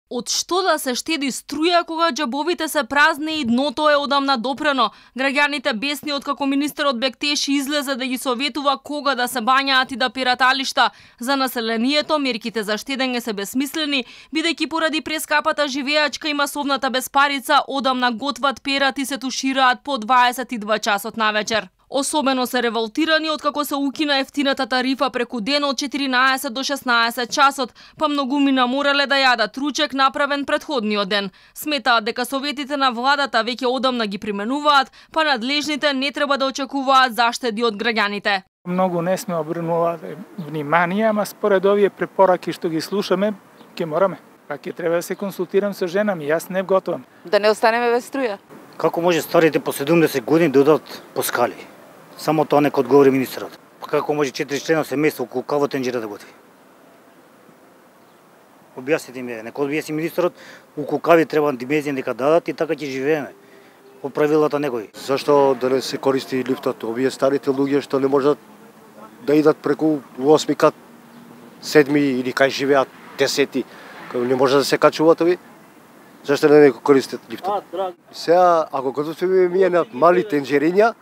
Од што да се штеди струја кога џабовите се празни и дното е одамна допрено? Граѓаните бесни откако министерот Бектеши излезе да ги советува кога да се бањаат и да перат алишта. За населението мерките за штедење се бесмислени, бидејќи поради прескапата живеачка и масовната безпарица одамна готват, перат и се тушираат по 22 часот навечер. Особено се револтирани откако се укина ефтината тарифа преку ден од 14 до 16 часот, па многумина морале да јадат ручек направен претходниот ден. Сметаат дека советите на владата веќе одамна ги применуваат, па надлежните не треба да очекуваат заштеди од граѓаните. Многу не сме обрнувале внимание, ама според овие препораки што ги слушаме, ќе мораме. Па ќе треба да се консултирам со жена ми, јас не готовам. Да не останеме без струја. Како може старите по 70 години да одат по скали? Само тоа нека одговори министерот. Па како може 4 члена семејство околу кава тенџера да готви? Објасните ми, нека објасни министерот, околу кави треба dimenzија нека дадат и така ќе живееме. По правилата некои. Зашто да не се користи лифтот? Овие старите луѓе што не можат да идат преку 8 кат, 7 или кај живеат 10, не можат да се качуваат ови? Зашто не користат лифтот? Сега, ако готвиме ние на мали тенџериња,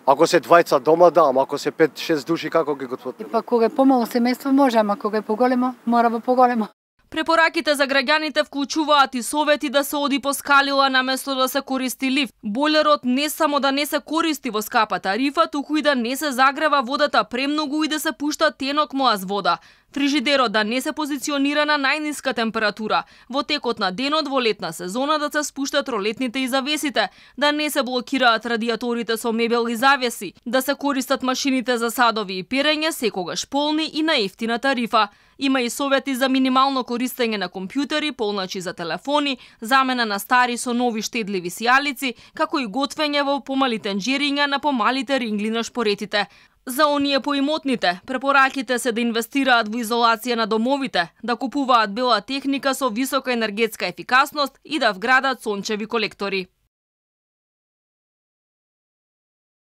ако се двајца дома, да, ама ако се 5-6 души, како ги готват? Па кога е помало семејство може, ама кога е поголемо, мора во поголемо. Препораките за граѓаните вклучуваат и совети да се оди по скалила наместо да се користи лифт. Бойлерот не само да не се користи во скапа тарифа, туку и да не се загрева водата премногу и да се пушта тенок млаз вода. Фрижидерот да не се позиционира на најниска температура. Во текот на денот во летна сезона да се спуштат ролетните и завесите, да не се блокираат радиаторите со мебел и завеси, да се користат машините за садови и перење секогаш полни и на ефтина тарифа. Има и совети за минимално користење на компјутери, полначи за телефони, замена на стари со нови штедливи сијалици, како и готвење во помали тенџериња на помалите рингли на шпоретите. За оние поимотните, препораките се да инвестираат во изолација на домовите, да купуваат бела техника со висока енергетска ефикасност и да вградат сончеви колектори.